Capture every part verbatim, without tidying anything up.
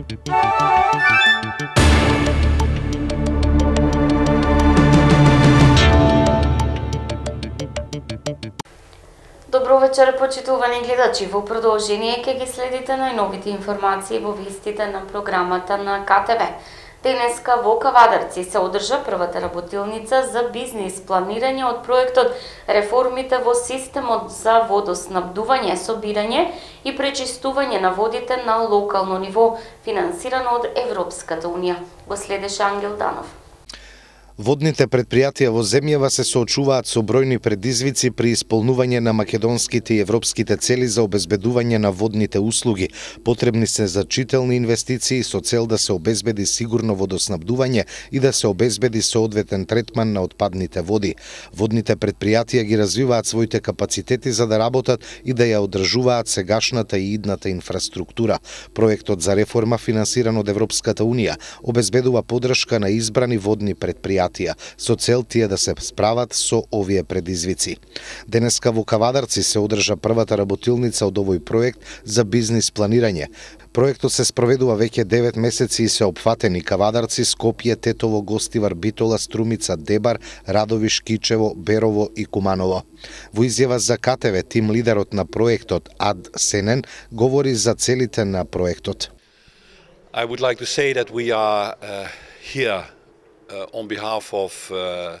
Добро вечер, почитувани гледачи. Во продолжение ќе ги следите најновите информации во вестите на програмата на К Т В. Денеска во Кавадарци се одржа првата работилница за бизнис планирање од проектот Реформите во системот за водоснабдување, собирање и пречистување на водите на локално ниво, финансирано од Европската унија. Го следеше Ангел Данов. Водните предпријатија во земјава се соочуваат со бројни предизвици при исполнување на македонските и европските цели за обезбедување на водните услуги. Потребни се значителни инвестиции со цел да се обезбеди сигурно водоснабдување и да се обезбеди соодветен третман на отпадните води. Водните предпријатија ги развиваат своите капацитети за да работат и да ја одржуваат сегашната и идната инфраструктура. Проектот за реформа, финансиран од Европската унија, обезбедува поддршка на избрани водни предпријатија со цел тие да се справат со овие предизвици. Денеска во Кавадарци се одржа првата работилница од овој проект за бизнис планирање. Проектот се спроведува веќе девет месеци и се опфатени Кавадарци, Скопје, Тетово, Гостивар, Битола, Струмица, Дебар, Радовиш, Кичево, Берово и Куманово. Во изјава за К Т В, тим лидерот на проектот Ад Сенен говори за целите на проектот. I would like to say that we are uh, here Uh, on behalf of uh,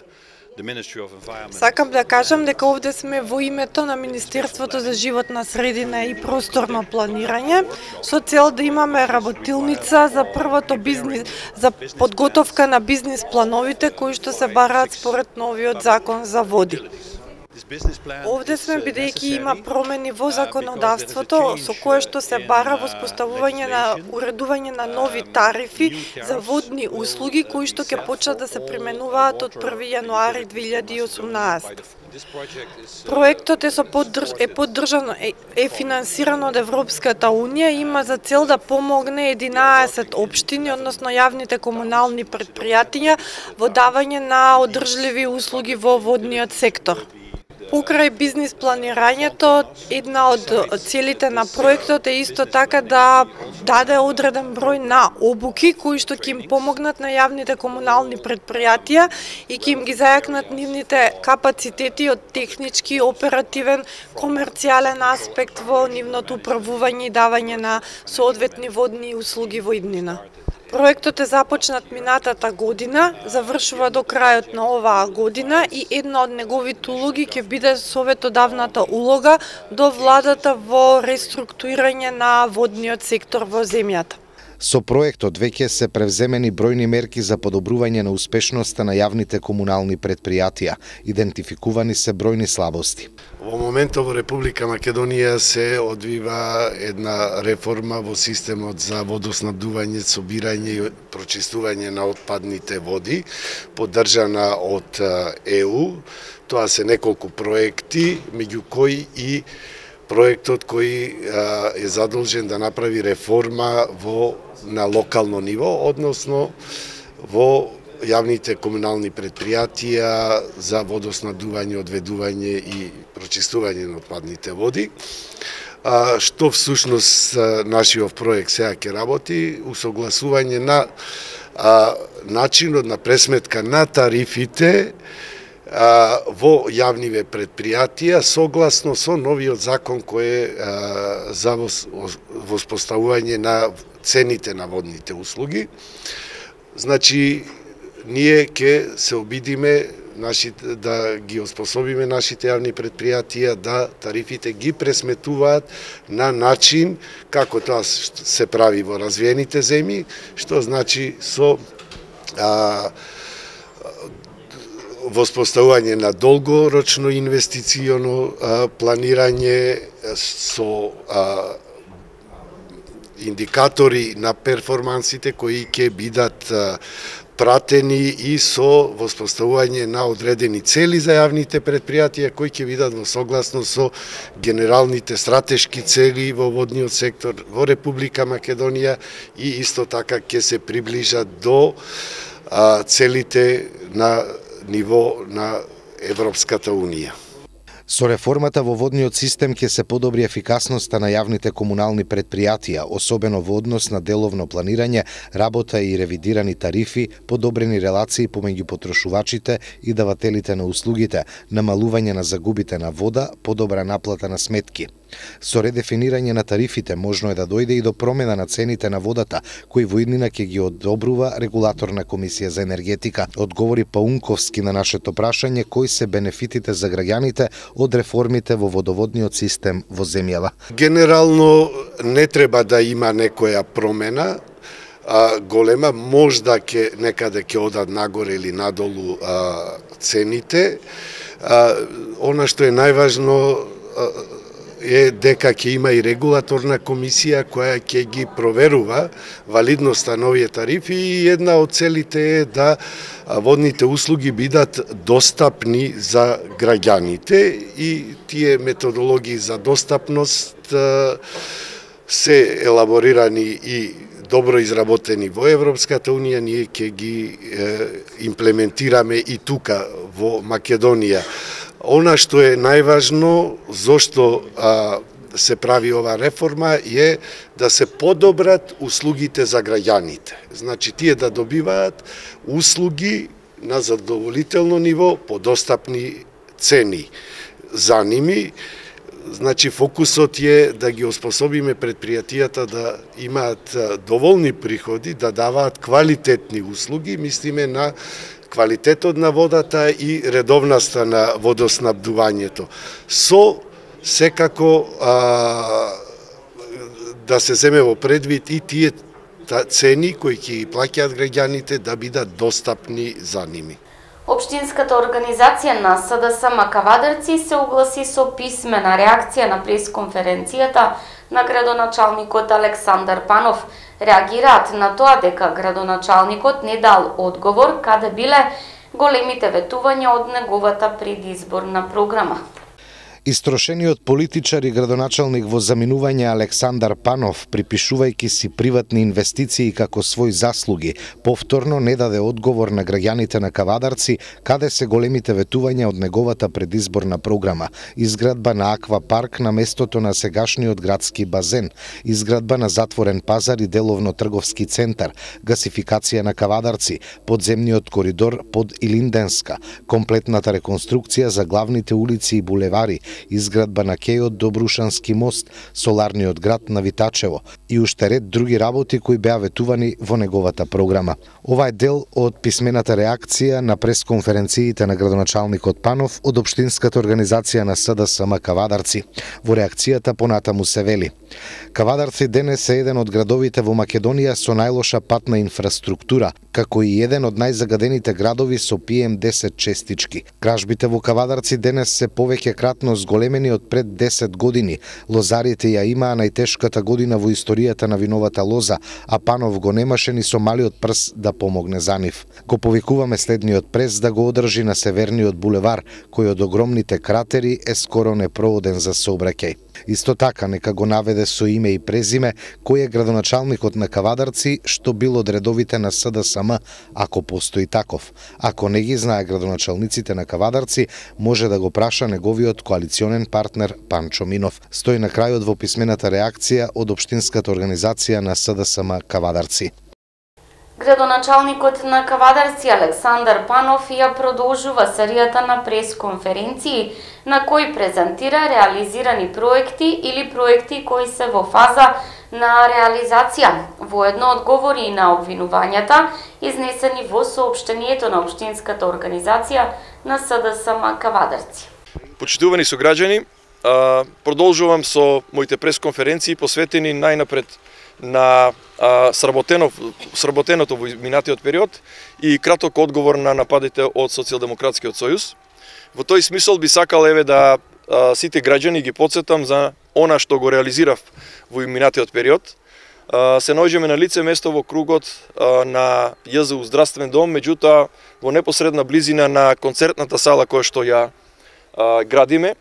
the Ministry of Environment. Сакам да кажам дека овде сме во името на Министерството за животна средина и просторно планирање со цел да имаме работилница за првото бизнис за подготовка на бизнис плановите кои што се бараат според новиот закон за води. Овде сме бидејќи има промени во законодавството со кое што се бара воспоставување на уредување на нови тарифи за водни услуги кои што ќе почнат да се применуваат од први јануари две илјади и осумнаесета. Проектот е, со поддрж... е поддржан е, е финансиран од Европската унија и има за цел да помогне единаесет општини, односно јавните комунални предпријатија во давање на одржливи услуги во водниот сектор. Покрај бизнис планирањето, една од целите на проектот е исто така да даде одреден број на обуки кои што ќе им помогнат на јавните комунални предпријатија и ќе им ги зајакнат нивните капацитети од технички, оперативен, комерцијален аспект во нивното управување и давање на соодветни водни услуги во иднина. Проектот е започнат минатата година, завршува до крајот на оваа година и една од неговите улоги ќе биде советодавната улога до владата во реструктурирање на водниот сектор во земјата. Со проектот веќе се превземени бројни мерки за подобрување на успешноста на јавните комунални предпријатија. Идентификувани се бројни слабости. Во моментот во Република Македонија се одвива една реформа во системот за водоснабдување, собирање и прочистување на отпадните води, поддржана од Е У. Тоа се неколку проекти, меѓу кои и проектот кој е задолжен да направи реформа во на локално ниво, односно во јавните комунални предпријатија за водоснабдување, одведување и прочистување на отпадните води. А, што всушност нашиот проект сега ќе работи, усогласување на а, начинот на пресметка на тарифите а, во јавниве предпријатија согласно со новиот закон кој е а, за воспоставување на цените на водните услуги. Значи, ние ќе се обидиме нашите, да ги оспособиме нашите јавни предпријатија да тарифите ги пресметуваат на начин како тоа се прави во развиените земји, што значи со а, воспоставување на долгорочно инвестиционо а, планирање со а, индикатори на перформансите кои ќе бидат а, пратени и со воспоставување на одредени цели за јавните предпријатија кои ќе бидат во согласно со генералните стратешки цели во водниот сектор во Република Македонија и исто така ќе се приближат до а, целите на ниво на Европската унија. Со реформата во водниот систем ќе се подобри ефикасноста на јавните комунални предпријатија, особено во однос на деловно планирање, работа и ревидирани тарифи, подобрени релации помеѓу потрошувачите и давателите на услугите, намалување на загубите на вода, подобра наплата на сметки. Со редефинирање на тарифите можно е да дојде и до промена на цените на водата, кои во иднина ќе ги одобрува регулаторна комисија за енергетика. Одговори Паунковски на нашето прашање кои се бенефитите за граѓаните од реформите во водоводниот систем во земјава. Генерално не треба да има некоја промена, а, голема, можда ке некаде ќе одат нагоре или надолу а, цените. А, она што е најважно а, е дека ќе има и регулаторна комисија која ќе ги проверува валидноста на овие тарифи и една од целите е да водните услуги бидат достапни за граѓаните и тие методологии за достапност се елаборирани и добро изработени во Европската Унија, ние ќе ги е, имплементираме и тука во Македонија. Она што е најважно, зошто а, се прави ова реформа, е да се подобрат услугите за граѓаните. Значи, тие да добиваат услуги на задоволително ниво, по достапни цени за ними. Значи, фокусот е да ги оспособиме предпријатијата да имаат доволни приходи, да даваат квалитетни услуги, мислиме на квалитетот на водата и редовноста на водоснабдувањето. Со секако а, да се земе во предвид и тие цени кои ќе ги плаќаат граѓаните да бидат достапни за ними. Општинската организација на СДС Макавадарци се огласи со писмена реакција на пресконференцијата на градоначалникот Александар Панов. Реагираат на тоа дека градоначалникот не дал одговор каде биле големите ветувања од неговата предизборна програма. Истрошениот политичар и градоначалник во заминување Александар Панов, припишувајќи си приватни инвестиции како свој заслуги, повторно не даде одговор на граѓаните на Кавадарци каде се големите ветувања од неговата предизборна програма: изградба на аквапарк на местото на сегашниот градски базен, изградба на затворен пазар и деловно трговски центар, гасификација на Кавадарци, подземниот коридор под Илинденска, комплетната реконструкција за главните улици и булевари, изградба на кејот до Брушански мост, соларниот град на Витачево и уште ред други работи кои беа ветувани во неговата програма. Ова е дел од писмената реакција на пресконференциите на градоначалникот Панов од Општинската организација на СДС Кавадарци. Во реакцијата понатаму се вели: Кавадарци денес е еден од градовите во Македонија со најлоша патна инфраструктура, како и еден од најзагадените градови со Пи Ем десет честички. Кражбите во Кавадарци денес се повеќе кратно зголемени од пред десет години. Лозарите ја имаа најтешката година во историјата на виновата лоза, а Панов го немаше ни со малиот прс да помогне за нив. Го повикуваме следниот прес да го одржи на северниот булевар, кој од огромните кратери е скоро непрооден за сообраќај. Исто така, нека го наведе со име и презиме кој е градоначалникот на Кавадарци, што бил од редовите на СДСМ, ако постои таков. Ако не ги знае градоначалниците на Кавадарци, може да го праша неговиот коалиционен партнер Панчо Минов. Стои на крајот во писмената реакција од Општинската организација на СДСМ Кавадарци. Градоначалникот на Кавадарци Александар Панов ја продолжува серијата на пресконференции на кои презентира реализирани проекти или проекти кои се во фаза на реализација. Воедно одговори на обвинувањата изнесени во соопштението на Општинската организација на СДСМ Кавадарци. Почитувани сограѓани, продолжувам со моите пресконференции посветени најнапред на а, сработено, сработеното во минатиот период и краток одговор на нападите од Социјалдемократскиот сојуз. Во тој смисол би сакал еве да а, сите граѓани ги потсетам за она што го реализирав во минатиот период. А, се наоѓаме на лице место во кругот а, на Ја З У здравствен дом, меѓутоа во непосредна близина на концертната сала која што ја а, градиме.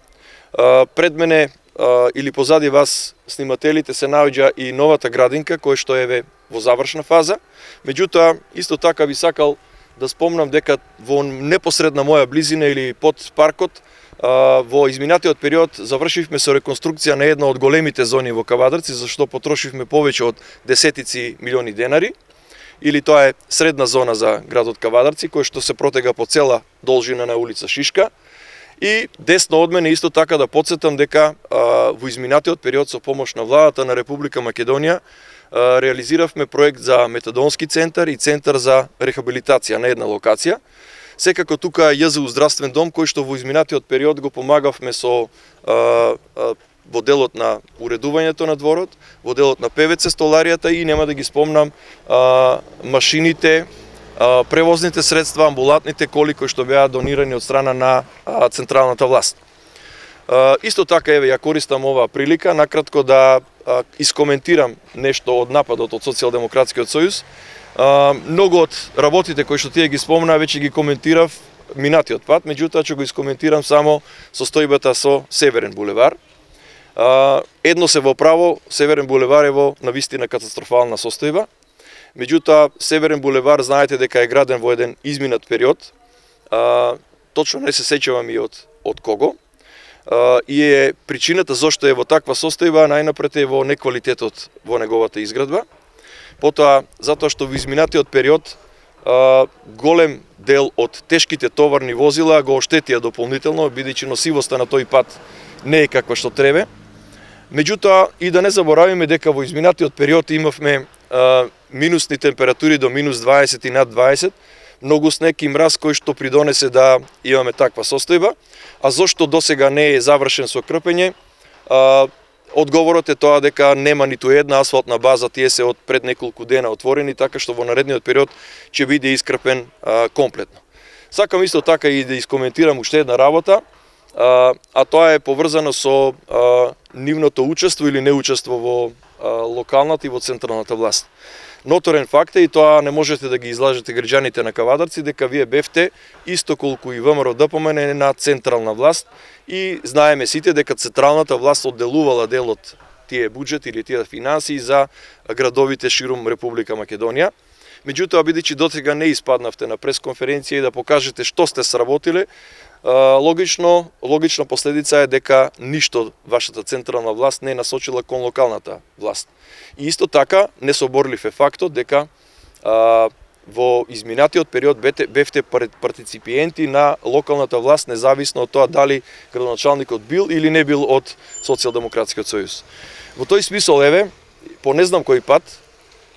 А, пред мене Uh, или позади вас снимателите се наоѓа и новата градинка која што е во завршна фаза. Меѓутоа, исто така би сакал да спомнам дека во непосредна моја близина или под паркот во изминатиот период завршивме со реконструкција на една од големите зони во Кавадарци, за што потрошивме повеќе од десетици милиони денари, или тоа е средна зона за градот Кавадарци, кој што се протега по цела должина на улица Шишка. И десно од мене исто така да потсетам дека а, во изминатиот период со помош на владата на Република Македонија а, реализиравме проект за метадонски центар и центар за рехабилитација на една локација. Секако тука е ЈЗУ здравствен дом кој што во изминатиот период го помагавме со а, а, во делот на уредувањето на дворот, во делот на ПВЦ столаријата и нема да ги спомнам а, машините, а, превозните средства, амбулантните коли кои што беа донирани од страна на а, централната власт. А, исто така еве ја користам оваа прилика накратко да а, искоментирам нешто од нападот од Социјалдемократскиот сојуз. Uh, многу од работите кои што тие ги спомна веќе ги коментирав минатиот пат, меѓутоа ќе го искоментирам само состојбата со Северен булевар. Uh, едно се во право, Северен булевар е во навистина катастрофална состојба. Меѓутоа Северен булевар знаете дека е граден во еден изминат период. Uh, точно не се сеќавам и од од кого. Uh, и е причината зошто е во таква состојба најнапред е во неквалитетот во неговата изградба. Потоа, затоа што во изминатиот период а, голем дел од тешките товарни возила го оштетија дополнително, бидејќи носивоста на тој пат не е каква што требе. Меѓутоа, и да не заборавиме дека во изминатиот период имавме а, минусни температури до минус дваесет и над дваесет, многу снег и мраз кој што придонесе да имаме таква состојба, а зошто досега не е завршен со крпење, а, одговорот е тоа дека нема ниту една асфалтна база, тие се од пред неколку дена отворени, така што во наредниот период ќе биде искрпен а, комплетно. Сакам исто така и да искоментирам уште една работа, а, а тоа е поврзано со а, нивното учество или неучество во а, локалната и во централната власт. Ноторен факт е, и тоа не можете да ги излажете граѓаните на Кавадарци, дека вие бевте исто колку и ВМРО ДПМН на централна власт и знаеме сите дека централната власт одделувала дел од тие буџети или тие финансии за градовите ширум Република Македонија. Меѓутоа, бидејќи дотега не испаднавте на пресконференција и да покажете што сте сработиле, логично, логична последица е дека ништо вашата централна власт не е насочила кон локалната власт. И исто така несоборлив е фактот дека а, во изминатиот период бевте, бевте партиципиенти на локалната власт, независно од тоа дали градоначалникот бил или не бил од Социјалдемократскиот сојуз. Во тој смисол, еве, по не знам кој пат,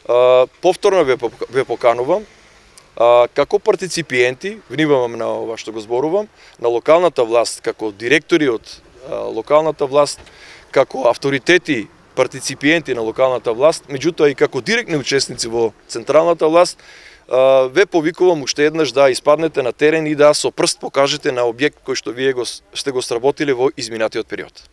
а, повторно ве, ве поканувам, а, како партиципиенти, внимавам на ова што го зборувам, на локалната власт, како директори од а, локалната власт, како авторитети, партиципиенти на локалната власт, меѓутоа и како директни учесници во централната власт, ве повикувам уште еднаш да испаднете на терен и да со прст покажете на објект кој што вие го, сте го сработиле во изминатиот период.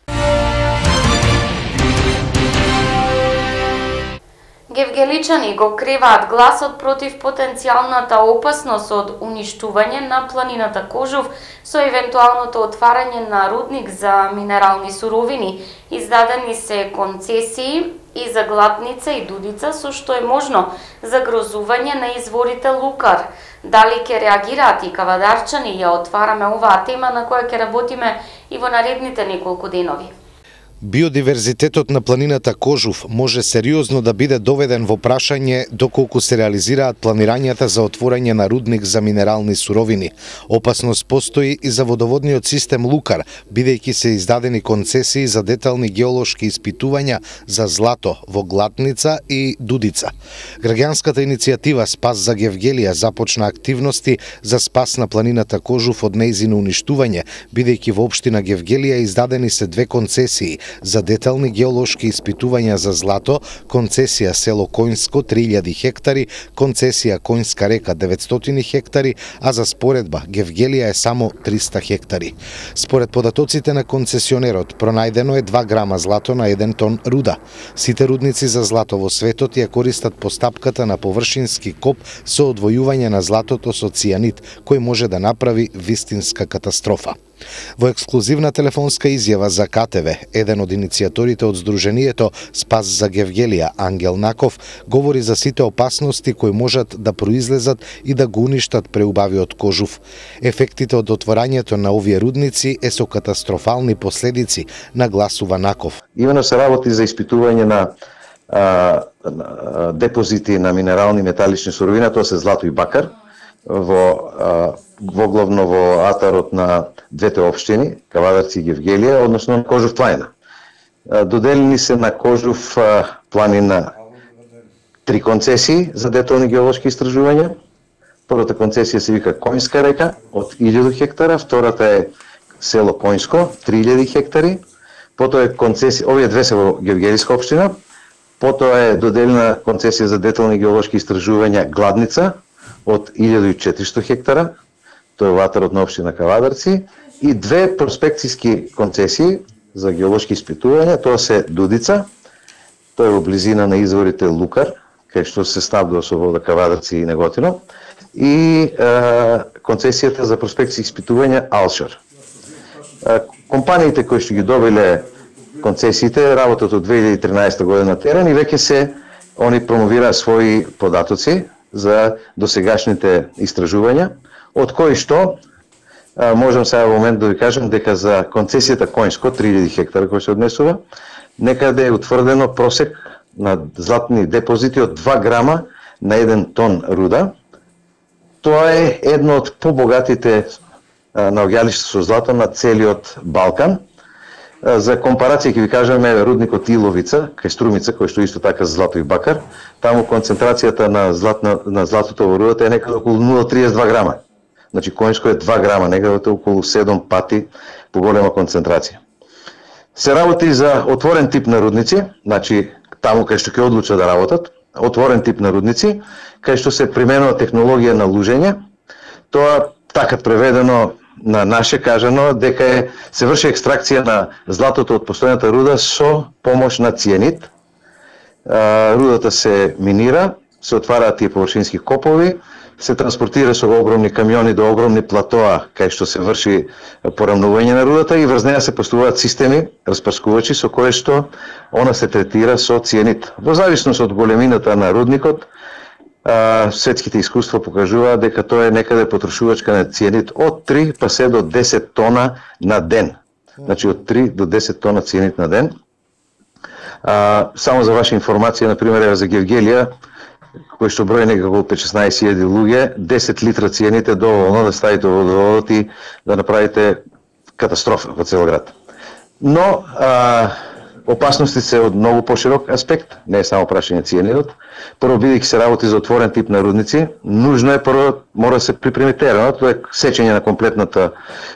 Гевгеличани го креваат гласот против потенцијалната опасност од уништување на планината Кожув со евентуалното отварање на рудник за минерални суровини. Издадени се концесии и за Глатница и Дудица, со што е можно загрозување на изворите Лукар. Дали ќе реагираат и кавадарчани, ја отвараме оваа тема на која ќе работиме и во наредните неколку денови. Биодиверзитетот на планината Кожув може сериозно да биде доведен во прашање доколку се реализираат планирањата за отворање на рудник за минерални суровини. Опасност постои и за водоводниот систем Лукар, бидејќи се издадени концесии за детални геолошки испитувања за злато во Глатница и Дудица. Граѓанската иницијатива Спас за Гевгелија започна активности за спас на планината Кожув од нејзино уништување, бидејќи во општина Гевгелија издадени се две концесии за детални геолошки испитувања за злато, концесија село Коњско три илјади хектари, концесија Коњска река деветстотини хектари, а за споредба Гевгелија е само триста хектари. Според податоците на концесионерот, пронајдено е два грама злато на еден тон руда. Сите рудници за злато во светот ја користат постапката на површински коп со одвојување на златото со цијанид, кој може да направи вистинска катастрофа. Во ексклузивна телефонска изјава за К Т В, еден од иницијаторите од Сдруженијето Спас за Гевгелија, Ангел Наков, говори за сите опасности кои можат да произлезат и да го уништат преубавиот кожув. Ефектите од отворањето на овие рудници е со катастрофални последици, нагласува Наков. Имено се работи за испитување на а, а, депозити на минерални металични суровина, тоа се злато и бакар, во, а, во главно во атарот на двете општини, Кавадарци и Гевгелија, односно на Кожув планина. Доделени се на Кожув планина три концесии за детални геолошки истражувања. Првата концесија се вика Коњска река од илјаду хектара, втората е село Коњско, три илјади хектари. Потоа е концесија, овие две се во Гевгелиска општина. Потоа е доделена концесија за детални геолошки истражувања Гладница од илјада и четиристотини хектара, тоа е во атарот на општина Кавадарци, и две проспекцијски концесии за геолошки испитувања, тоа се Дудица, тоа е во близина на изворите Лукар, кај што се снабдува со вода Кавадарци и Неготино, и е, концесијата за проспекцијски испитувања Алшар. Е, компаниите кои што ги добиле концесиите работат од две илјади и тринаесета година на терен и веќе се они промовираат своји податоци за досегашните истражувања, од кои што а, можам сега во момент да ви кажам дека за концесијата Коњско, три илјади хектара кој се однесува, некаде е утврдено просек на златни депозити од два грама на еден тон руда. Тоа е едно од побогатите наоѓалишта со злато на целиот Балкан. За компарација ќе ви кажеме рудникот Иловица, кај Струмица, кој што исто така злато и бакар, таму концентрацијата на златно на златото во рудата е некаде околу нула целу триесет и два грама. Значи Коњско е два грама, некаде околу седум пати поголема концентрација. Се работи за отворен тип на рудници, значи таму кај што ќе одлучат да работат, отворен тип на рудници, кај што се применува технологија на лужење. Тоа така преведено на наше кажано дека е, се врши екстракција на златото од постојната руда со помош на цијанид. Рудата се минира, се отвараат тие површински копови, се транспортира со огромни камиони до огромни платоа кај што се врши порамнување на рудата и врз неа се поставуваат системи, распрскувачи со кои што она се третира со цијанид. Во зависност од големината на рудникот, Uh, светските искуства покажуваат дека тоа е некаде потрошувачка на цијанид од три па се до десет тона на ден. Значи од три до десет тона цијанид на ден. Uh, само за ваша информација, например, за Гевгелија, кој што брои некако петнаесет илјади луѓе, десет литра цијанид е доволно да ставите во водоводот и да направите катастрофа во цел град. Но uh, опасности се од многу поширок аспект, не е само прашање цијанидот. Прво, бидејќи се работи за отворен тип на рудници, нужно е прво мора да се припреми теренот, тоа е сечење на комплетната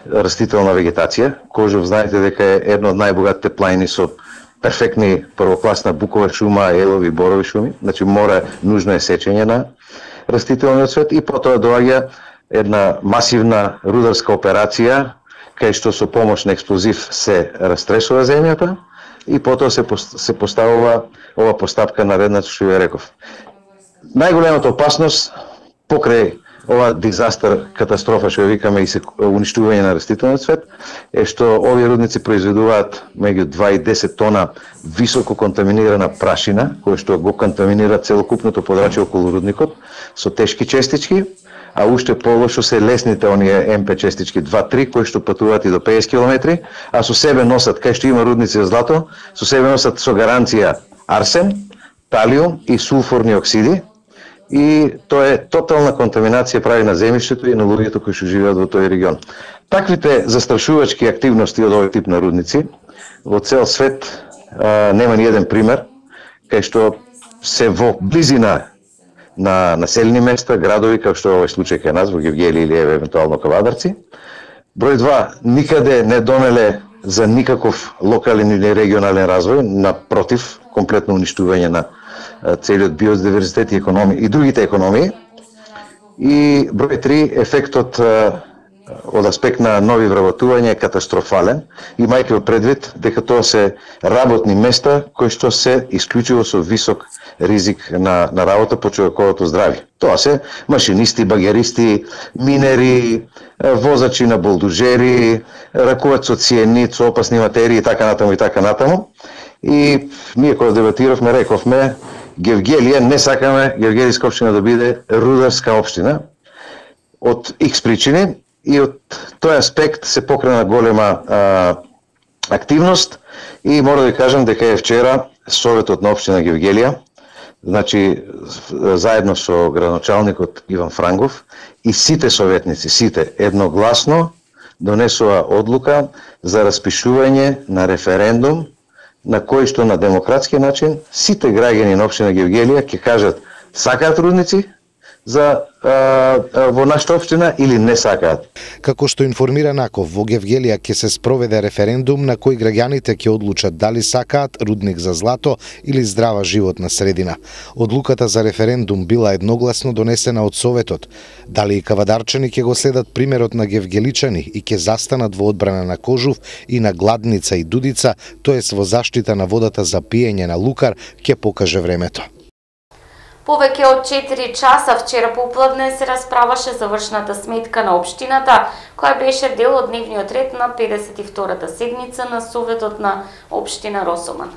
растителна вегетација. Кожув знаете дека е едно од најбогатите планини со перфектни првокласна букова шума, елови, борови шуми, значи мора нужно е сечење на растителниот свет и потоа доаѓа една масивна рударска операција кај што со помош на експлозив се растресува земјата и потоа се се поставува ова постапка наредна што ја реков. Најголемата опасност покрај ова дизастер, катастрофа што ја викаме и се уништување на растителниот свет е што овие рудници произведуваат меѓу два и десет тона високо контаминирана прашина, која што го контаминира целокупното подрачје околу рудникот со тешки честички, а уште полошо се лесните оние Ем Пе честички два три кои што патуваат и до педесет километри, а со себе носат, кај што има рудници за злато, со себе носат со гаранција арсен, талиум и сулфурни оксиди, и тоа е тотална контаминација прави на земјиштето и на луѓето кои што живеат во тој регион. Таквите застрашувачки активности од овој тип на рудници во цел свет а, нема ни еден пример кај што се во близина на населени места, градови, како што овој случај кај нас во Гевгелија или евентуално Кавадарци. Број два, никаде не донеле за никаков локален или регионален развој, напротив, комплетно уништување на целиот биодиверзитет и економија и другите економии. И број три, ефектот од аспект на нови вработувања е катастрофален, имајќи предвид дека тоа се работни места кои што се исклучиво со висок ризик на, на работа по човековото здравје. Тоа се машинисти, багеристи, минери, возачи на болдужери, ракуваат со циенит, со опасни материи и така натаму и така натаму. И ние кога дебатиравме, рековме, Гевгелија не сакаме Гевгелијска општина да биде рударска општина од икс причини и од тој аспект се покрена голема а, активност и мора да ви кажам дека е вчера Советот на општина Гевгелија, значи заедно со градоначалникот Иван Франгов и сите советници, сите едногласно донесува одлука за распишување на референдум на кој што на демократски начин сите граѓани на општина Гевгелија ќе кажат сакаат рудници за а, а, во нашата општина или не сакаат. Како што информира Наков, во Гевгелија ќе се спроведе референдум на кој граѓаните ќе одлучат дали сакаат рудник за злато или здрава животна средина. Одлуката за референдум била едногласно донесена од Советот. Дали и кавадарчани ќе го следат примерот на гевгеличани и ќе застанат во одбрана на Кожув и на Гладница и Дудица, тоест во заштита на водата за пиење на Лукар, ќе покаже времето. Повеќе од четири часа вчера попладне се расправаше завршната сметка на општината, која беше дел од дневниот ред на педесет и втората седница на Советот на општина Росоман.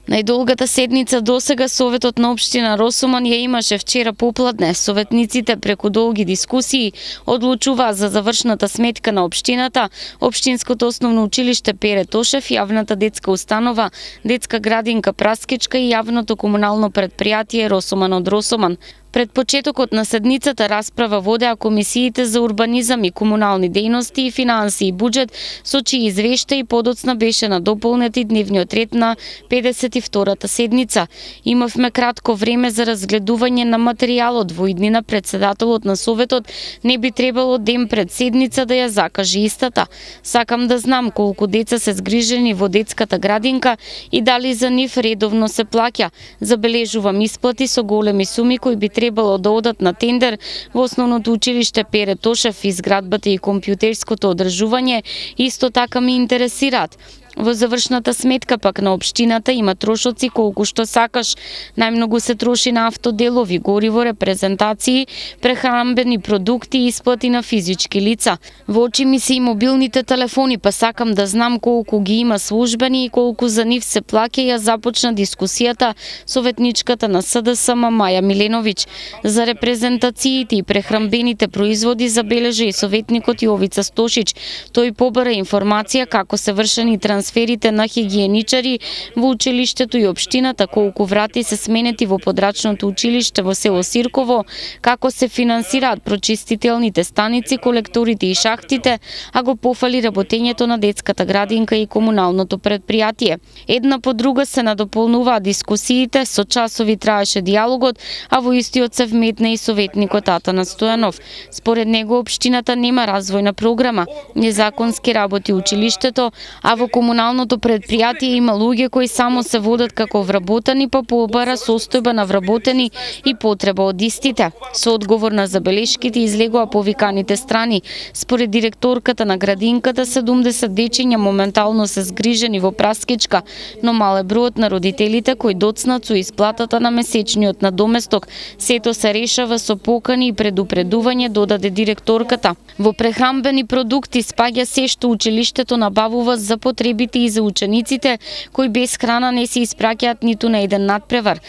Најдолгата седница досега Советот на општина Росоман ја имаше вчера попладне. Советниците преку долги дискусии одлучуваа за завршната сметка на општината, Општинското основно училиште Пере Тошев, јавната детска установа, детска градинка Праскичка и јавното комунално предпријатие Росоман од Росоман. Пред почетокот на седницата расправа водеа комисиите за урбанизам и комунални дејности и финансии и буџет, со чии извештаи подоцна беше надополнет и дневниот ред на педесет и втората седница. Имавме кратко време за разгледување на материјалот, во иднина председателот на Советот не би требало ден пред седница да ја закаже истата. Сакам да знам колку деца се згрижени во детската градинка и дали за нив редовно се плаќа. Забележувам исплати со големи суми кои би требало да одат на тендер во основното училиште Пере Тошев, изградбата и компјутерското одржување исто така ме интересираат. Во завршната сметка пак на општината има трошоци колку што сакаш. Најмногу се троши на автоделови, гориво, репрезентации, прехранбени продукти и исплати на физички лица. Во очи ми се и мобилните телефони, па сакам да знам колку ги има службени и колку за нив се плаќа. Ја започна дискусијата советничката на С Д С М Маја Миленовиќ. За репрезентациите и прехранбените производи забележа и советникот Јовица Стошиќ. Тој побара информација како се вршени транспорти трансферите на хигиеничари во училиштето и општината, колку врати се сменети во подрачното училиште во село Сирково, како се финансираат прочистителните станици, колекторите и шахтите, а го пофали работењето на детската градинка и комуналното предпријатие. Една по друга се надополнуваа дискусиите, со часови траеше диалогот, а во истиот се вметна и советникот Атанас Стојанов. Според него општината нема развојна програма, незаконски работи училиштето, а во комуналното предпријатие има луѓе кои само се водат како вработени, па побара состојба на вработени и потреба од истите. Со одговор на забелешките излегоа повиканите страни. Според директорката на градинката, седумдесет дечиња моментално се згрижени во Праскичка, но мал е бројот на родителите кои доцнат со исплатата на месечниот надоместок. Сето се решава со покани и предупредување, додаде директорката. Во прехранбени продукти спаѓа се што училиштето набавува за потребите и за учениците, кои без храна не се испраќаат ниту на еден надпревар.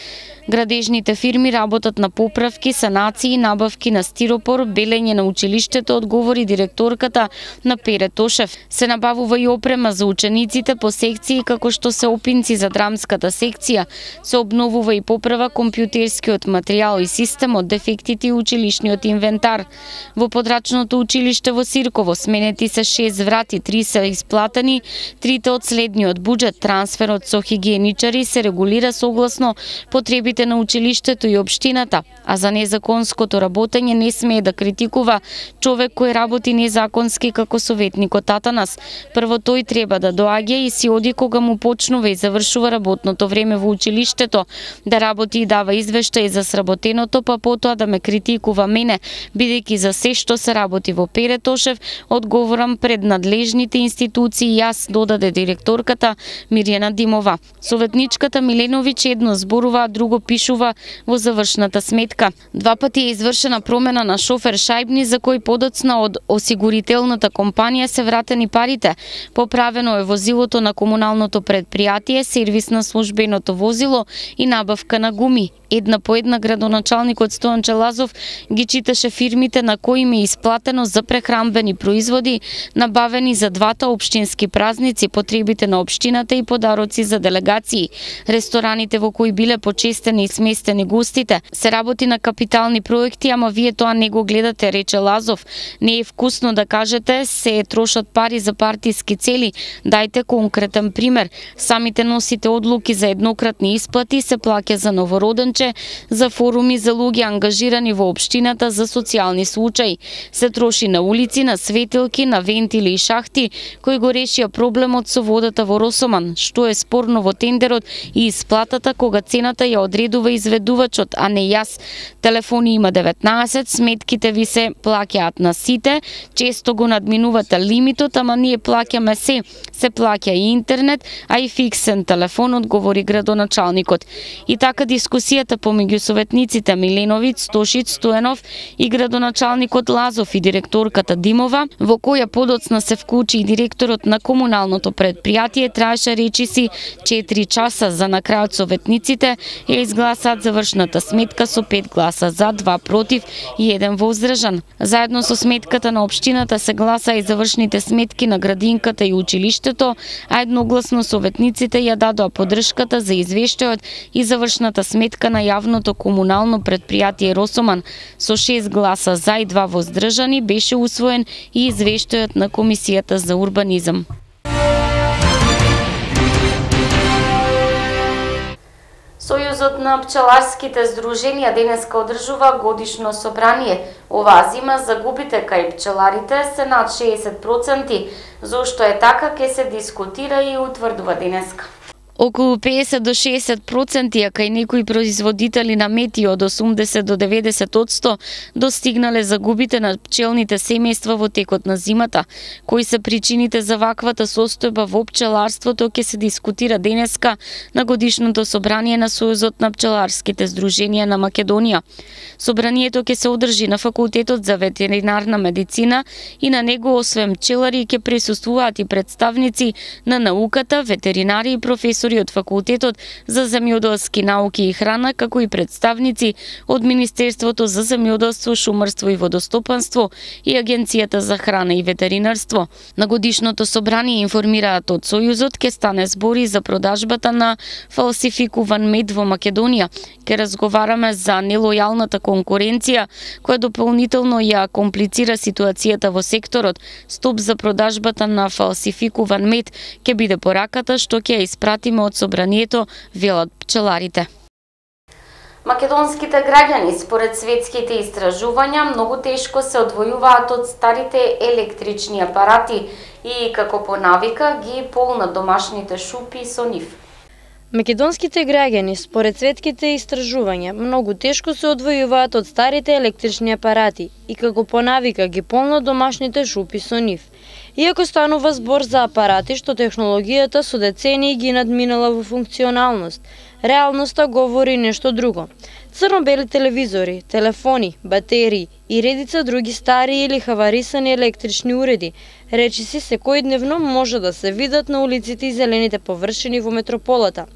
Градежните фирми работат на поправки, санации, набавки на стиропор, белење на училиштето, одговори директорката на Пере Тошев. Се набавува и опрема за учениците по секции, како што се опинци за драмската секција. Се обновува и поправа компјутерскиот материјал и системот, дефектите и училишниот инвентар. Во подрачното училиште во Сирково сменети се шест врати, три се исплатени, трите од следниот буџет. Трансферот со хигиеничари се регулира согласно потребите потребите на училиштето и општината, а за незаконското работење не смее да критикува човек кој работи незаконски како советникот Атанас. Прво тој треба да доаѓа и си оди кога му почнува и завршува работното време во училиштето, да работи и дава извештај за сработеното, па потоа да ме критикува мене, бидејќи за се што се работи во Перетошев, одговорам пред надлежните институции, јас, додаде директорката Мирјана Димова. Советничката Миленовиќ едно зборува, а друго пишува во завршната сметка. Два пати е извршена промена на шофер Шајбни, за кој подоцна од осигурителната компанија се вратени парите. Поправено е возилото на комуналното предпријатие, сервис на службеното возило и набавка на гуми. Една по една градоначалникот Стојан Челазов ги читаше фирмите на кои им е исплатено за прехранбени производи, набавени за двата општински празници, потребите на општината и подароци за делегации. Рестораните во кои биле почестени и сместени гостите. Се работи на капитални проекти, ама вие тоа не го гледате, рече Лазов. Не е вкусно да кажете се трошат пари за партиски цели. Дајте конкретен пример. Самите носите одлуки за еднократни исплати, се плаќа за новороденче, за форуми за луѓе ангажирани во општината за социјални случаи. Се троши на улици, на светилки, на вентили и шахти, кои го решија проблемот со водата во Росоман, што е спорно во тендерот и исплатата кога цената ја одредува изведувачот, а не јас. Телефони има деветнаесет, сметките ви се плаќаат на сите, често го надминувате лимитот, ама ние плаќаме се. Се плаќа и интернет, а и фиксен телефон, одговори градоначалникот. И така дискусијата помеѓу советниците Миленовиќ, Стошиć, Стојанов и градоначалникот Лазов и директорката Димова, во која подоцна се вклучи и директорот на комуналното предпријатие, траеше речиси четири часа, за на крајот советниците ја изгласаат завршната сметка со пет гласа за, два против и еден воздржан. Заедно со сметката на општината се гласа и завршните сметки на градинката и училиштето, а едногласно советниците ја дадоа поддршката за извештајот и завршната сметка на јавното комунално предпријатие Росоман. Со шест гласа за и два воздржани беше усвоен и извештајот на Комисијата за урбанизам. Сојузот на пчеларските здруженија денеска одржува годишно собрание. Оваа зима загубите кај пчеларите се над шеесет проценти. Зошто е така ќе се дискутира и утврдува денеска. Околу пеесет до шеесет проценти, а кај некои производители на мети од осумдесет до деветдесет одсто достигнале загубите на пчелните семејства во текот на зимата. Кои се причините за ваквата состојба во пчеларството ќе се дискутира денеска на годишното собрание на Сојузот на пчеларските здруженија на Македонија. Собранието ќе се одржи на Факултетот за ветеринарна медицина и на него освен пчелари ќе присуствуваат и представници на науката, ветеринари и професори од Факултетот за земјоделски науки и храна, како и представници од Министерството за земјоделство, шумарство и водостопанство и Агенцијата за храна и ветеринарство. На годишното собрание информираат од Сојузот ќе стане збори за продажбата на фалсификуван мед во Македонија. Ќе разговараме за нелојалната конкуренција, која дополнително ја комплицира ситуацијата во секторот. Стоп за продажбата на фалсификуван мед ќе биде пораката што ќе ја испратиме од собранието, велат пчеларите. Македонските граѓани, според светските истражувања, многу тешко се одвојуваат од старите електрични апарати и, како по навика, ги полнат домашните шупи со нив. Македонските граѓани, според светските истражувања, многу тешко се одвојуваат од старите електрични апарати и, како по навика, ги полнат домашните шупи со нив. Иако станува збор за апарати што технологијата со децении ги надминала во функционалност, реалноста говори нешто друго. Црно-бели телевизори, телефони, батерии и редица други стари или хаварисани електрични уреди, речиси секојдневно може да се видат на улиците и зелените површини во метрополата.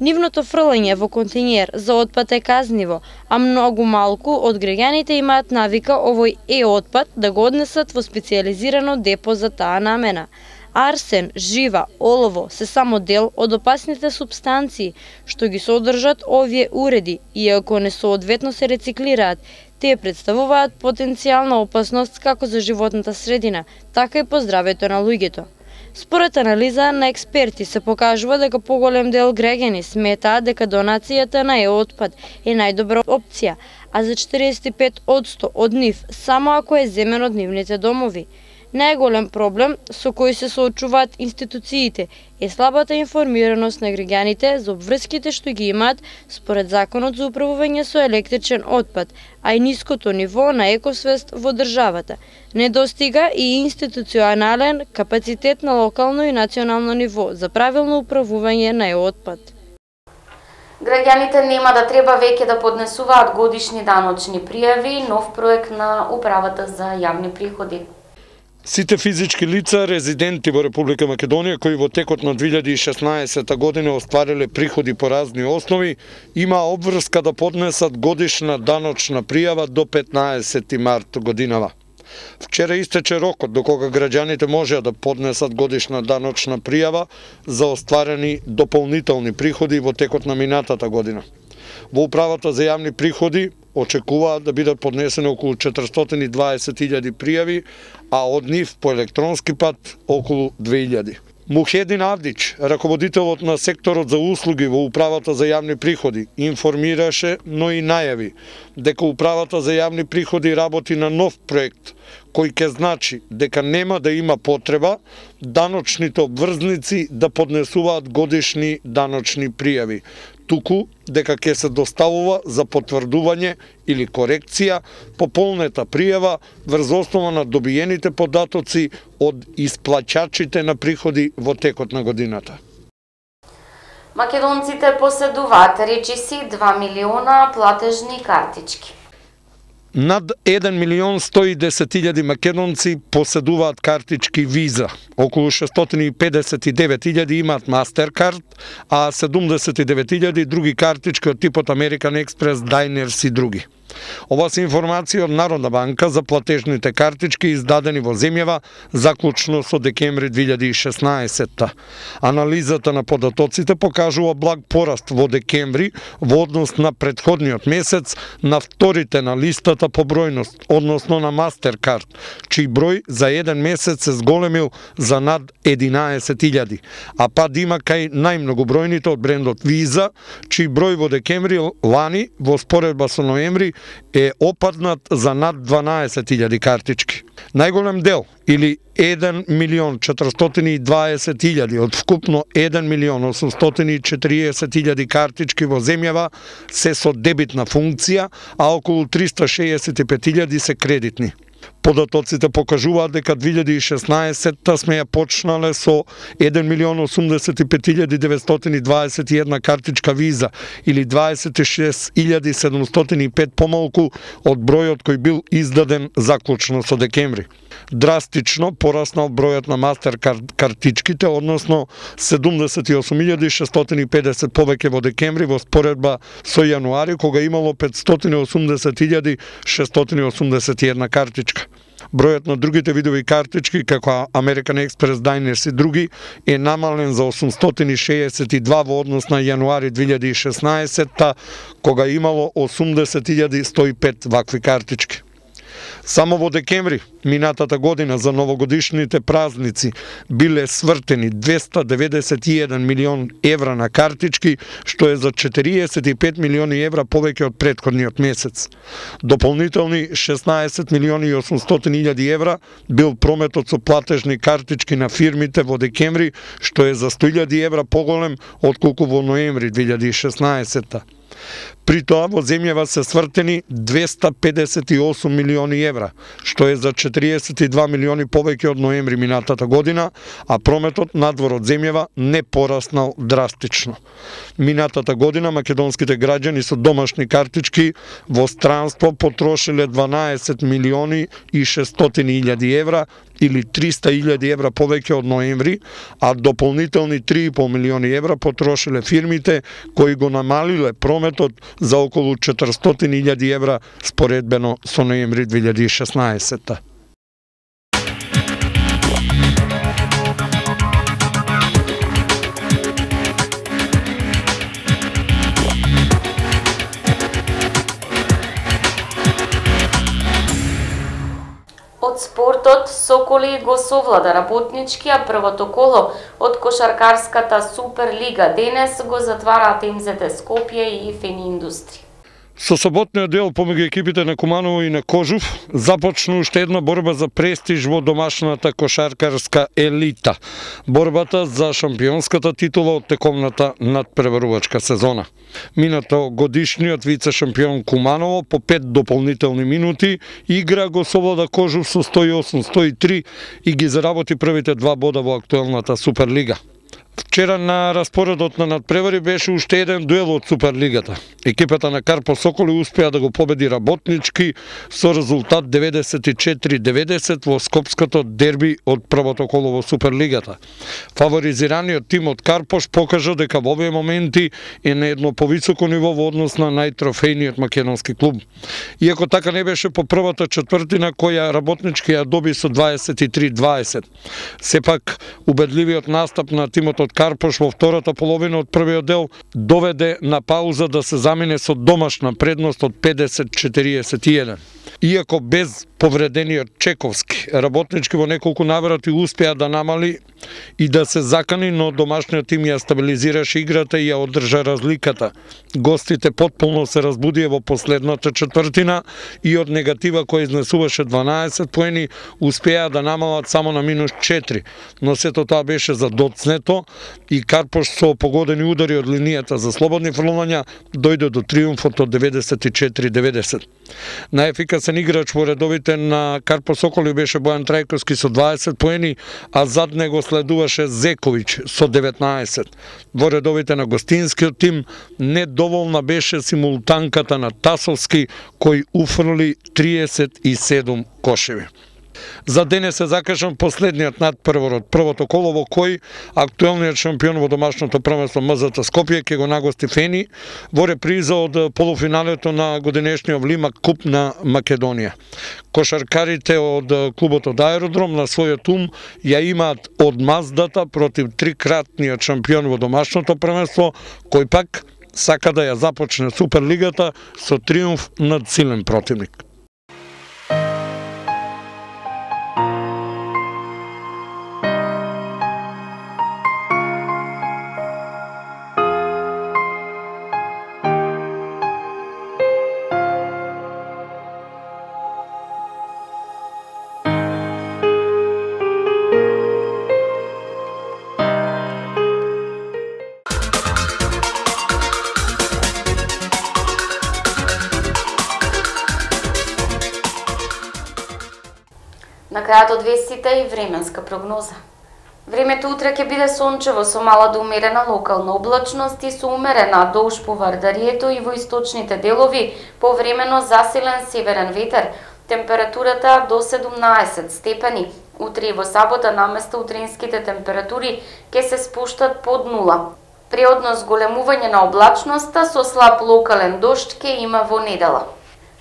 Нивното фрлање во континер за отпад е казниво, а многу малку од граѓаните имаат навика овој е-отпад да го однесат во специјализирано депо за таа намена. Арсен, жива, олово се само дел од опасните супстанции што ги содржат овие уреди и ако не соодветно се рециклираат, тие представуваат потенцијална опасност како за животната средина, така и по здравјето на луѓето. Според анализа на експерти се покажува дека поголем дел граѓани сметаат дека донацијата на е-отпад е најдобра опција, а за четириесет и пет одсто од нив само ако е земен од нивните домови. Најголем проблем со кој се соочуваат институциите е слабата информираност на граѓаните за обврските што ги имаат според Законот за управување со електричен отпад, а и ниското ниво на екосвест во државата. Недостига и институционален капацитет на локално и национално ниво за правилно управување на е-отпад. Граѓаните нема да треба веќе да поднесуваат годишни даночни пријави, нов проект на Управата за јавни приходи. Сите физички лица, резиденти во Република Македонија, кои во текот на две илјади и шеснаесета година оствариле приходи по разни основи, има обврска да поднесат годишна даночна пријава до петнаесети март годинава. Вчера истече рокот до кога граѓаните можеа да поднесат годишна даночна пријава за остварени дополнителни приходи во текот на минатата година. Во Управата за јавни приходи очекуваат да бидат поднесени околу четиристотини и дваесет илјади пријави, а од нив по електронски пат околу две илјади. Мухедин Авдич, раководителот на секторот за услуги во Управата за јавни приходи, информираше, но и најави дека Управата за јавни приходи работи на нов проект кој ќе значи дека нема да има потреба даночните обврзници да поднесуваат годишни даночни пријави, туку дека ќе се доставува за потврдување или корекција пополнета пријава врз основа на добиените податоци од исплаќачите на приходи во текот на годината. Македонците поседуваат, речиси, два милиона платежни картички. Над еден милион сто и десет илјади македонци поседуваат картички Виза. Околу шестстотини и педесет и девет илјади имаат Мастеркард, а седумдесет и девет илјади други картички од типот Американ Експрес, Дайнерс и други. Ова се информација од Народна банка за платежните картички издадени во земјава заклучно со декември две илјади и шеснаесета. Анализата на податоците покажува благ пораст во декември во однос на претходниот месец на вторите на листата по бројност, односно на Мастеркард, чиј број за еден месец се зголемил за над единаесет илјади, а пад има кај најмногобројните од брендот Виза, чиј број во декември лани во споредба со ноември е опаднат за над дванаесет илјади картички. Најголем дел, или еден милион четиристотини и дваесет илјади од вкупно еден милион осумстотини и четириесет илјади картички во земјава се со дебитна функција, а околу триста шеесет и пет илјади се кредитни. Податоците покажуваат дека две илјади и шеснаесета сме ја почнале со еден милион осумдесет и пет илјади деветстотини и дваесет и една картичка Виза или дваесет и шест илјади седумстотини и пет помалку од бројот кој бил издаден заклучно со декември. Драстично пораснал бројот на Мастеркард картичките, односно седумдесет и осум илјади шестстотини и педесет повеќе во декември во споредба со јануари, кога имало петстотини и осумдесет илјади шестстотини и осумдесет и една картичка. Бројот на другите видови картички, како American Express, Diners и други, е намален за осумстотини и шеесет и два во однос на јануари две илјади и шеснаесета, кога имало осумдесет илјади сто и пет вакви картички. Само во декември минатата година за новогодишните празници биле свртени двеста деветдесет и еден милион евра на картички, што е за четириесет и пет милиони евра повеќе од претходниот месец. Дополнителни шеснаесет милиони и осумстотини илјади евра бил прометот со платежни картички на фирмите во декември, што е за сто илјади евра поголем отколку во ноември две илјади и шеснаесета. При тоа во земјава се свртени двеста педесет и осум милиони евра, што е за четириесет и два милиони повеќе од ноември минатата година, а прометот надвор од земјава не пораснал драстично. Минатата година македонските граѓани со домашни картички во странство потрошиле дванаесет милиони и шестстотини илјади евра или триста илјади евра повеќе од ноември, а дополнителни три и пол милиони евра потрошиле фирмите кои го намалиле прометот за околу четиристотини илјади евра споредбено со ноември две илјади и шеснаесета. Од спортот, со Соколи го совлада работнички, а првото коло од кошаркарската Суперлига денес го затвараат Ем Зет Е Скопје и Фени Индустри. Со соботниот дел помеѓу екипите на Куманово и на Кожув започна уште една борба за престиж во домашната кошаркарска елита. Борбата за шампионската титула од тековната надпреварувачка сезона. Минато годишниот вице-шампион Куманово по пет дополнителни минути игра го совлада Кожув со сто и осум сто и три и ги заработи првите два бода во актуелната Суперлига. Вчера на распоредот на надпревари беше уште еден дуел од Суперлигата. Екипата на Карпо Соколи успеа да го победи работнички со резултат деветдесет и четири деветдесет во скопското дерби од првото коло во Суперлигата. Фаворизираниот тим од Карпош покажа дека во овие моменти е на едно повисоко ниво во однос на најтрофејниот македонски клуб. Иако така не беше по првата четвртина која работнички ја доби со дваесет и три дваесет. Сепак убедливиот настап на тимот од Карпош во втората половина од првиот дел доведе на пауза да се замине со домашна предност од педесет четириесет и еден. Иако без повредениот Чековски, работнички во неколку наврати успеа да намали и да се закани, но домашниот тим ја стабилизираше играта и ја одржа разликата. Гостите потполно се разбудија во последната четвртина и од негатива која изнесуваше дванаесет поени успеа да намалат само на минус четири, но сето тоа беше задоцнето и Карпош со погодени удари од линијата за слободни фрлања дојде до триумфот од деветдесет и четири деветдесет. Најефикасен играч во редовите на Карпо Соколи беше Бојан Трајковски со дваесет поени, а зад него следуваше Зековиќ со деветнаесет. Во редовите на гостинскиот тим недоволна беше симултанката на Тасовски кој уфрли триесет и седум кошеви. За денес се закажам последниот надпревар од првото коло во кој актуелниот шампион во домашното првенство Ем Зет Е Скопје ќе го нагости Фени во реприза од полуфиналето на годинешниот Влимак Куп на Македонија. Кошаркарите од клубот од Аеродром на својот ум ја имаат одмаздата против трикратниот шампион во домашното првенство, кој пак сака да ја започне Суперлигата со триумф над силен противник. На крајот од вестите и временска прогноза. Времето утре ќе биде сончево со мала до умерена локална облачност и со умерена долж по Вардарието и во источните делови повремено засилен северен ветер. Температурата до седумнаесет степени. Утре и во сабота наместо утринските температури ќе се спуштат под нула. Преодно зголемување на облачноста со слаб локален дожд ќе има во недела.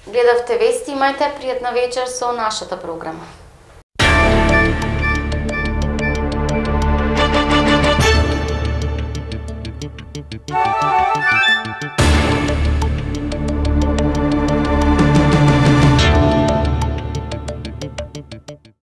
Гледавте вести, имајте пријатна вечер со нашата програма. Thank you.